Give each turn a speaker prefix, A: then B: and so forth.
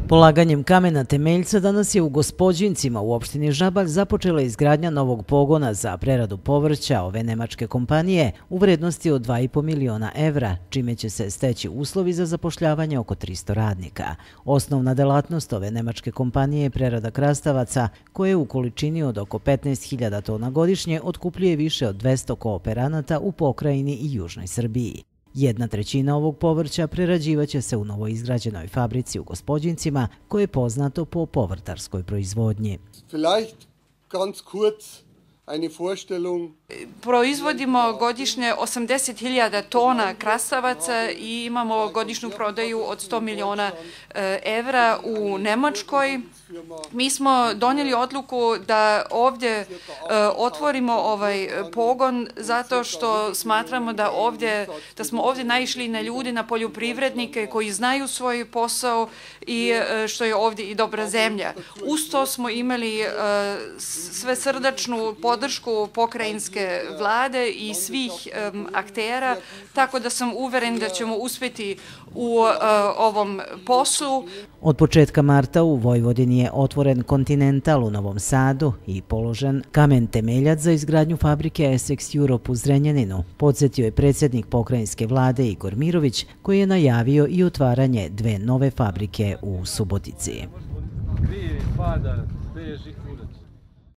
A: Polaganjem kamena temeljca danas je u Gospođincima u opštini Žabalj započela izgradnja novog pogona za preradu povrća ove nemačke kompanije u vrednosti od 2,5 miliona evra, čime će se steći uslovi za zapošljavanje oko 300 radnika. Osnovna delatnost ove nemačke kompanije je prerada krastavaca, koje u količini od oko 15.000 tona godišnje otkupljuje više od 200 kooperanata u pokrajini i južnoj Srbiji. 1/3 ovog povrća prerađivaće se u novoizgrađenoj fabrici u Gospođincima, koje je poznato po povrtarskoj proizvodnji.
B: Proizvodimo godišnje 80.000 tona krastavaca i imamo godišnju prodaju od 100 miliona evra u Nemačkoj. Mi smo donijeli odluku da ovdje otvorimo ovaj pogon zato što smatramo da smo ovdje naišli na ljudi, na poljoprivrednike koji znaju svoj posao i što je ovdje i dobra zemlja. Uz to smo imali svesrdačnu podršku pokrajinske vlade i svih aktera, tako da sam uveren da ćemo uspjeti u ovom poslu.
A: Od početka marta u Vojvodini je otvoren Continental u Novom Sadu i položen kamen temeljac za izgradnju fabrike Essex Europe u Zrenjaninu, podsjetio je predsjednik pokrajinske vlade Igor Mirović, koji je najavio i otvaranje 2 nove fabrike u Subotici.